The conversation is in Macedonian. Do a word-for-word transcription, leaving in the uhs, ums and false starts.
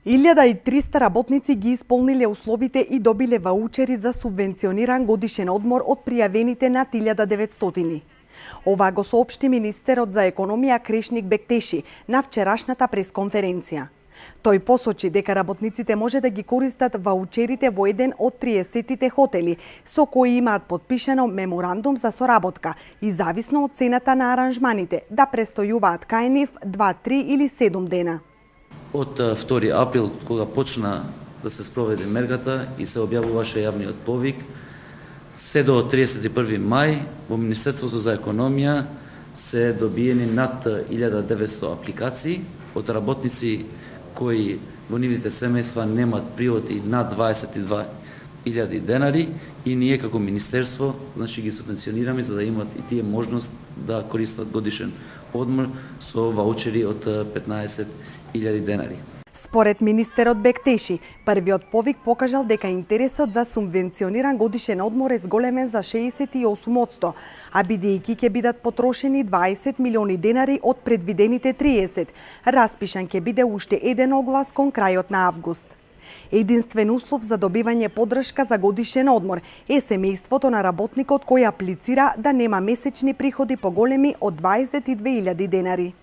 илјада и триста работници ги исполниле условите и добиле ваучери за субвенциониран годишен одмор од пријавените над илјада и деветстотини. Ова го соопшти министерот за економија Крешник Бектеши на вчерашната пресконференција. Тој посочи дека работниците може да ги користат ваучерите во еден од триесеттите хотели, со кои имаат подпишано меморандум за соработка и зависно од цената на аранжманите да престојуваат кај нив два, три или седум дена. Од втори април, кога почна да се спроведе мергата и се објавуваше јавниот повик, се до триесет и први мај во Министерството за економија се добиени над илјада и деветсто апликации од работници кои во нивните семејства немаат приходи над дваесет и две илјади денари и ние како министерство значи ги субвенционираме за да имаат и тие можност да користат годишен одмор со ваучери од петнаесет илјади денари. Според министерот Бектеши, првиот повик покажал дека интересот за субвенциониран годишен одмор е зголемен за шеесет и осум одсто, а бидејќи ќе бидат потрошени дваесет милиони денари од предвидените триесет, распишан ќе биде уште еден оглас кон крајот на август. Единствен услов за добивање поддршка за годишен одмор е семејството на работникот кој аплицира да нема месечни приходи поголеми од дваесет и две илјади денари.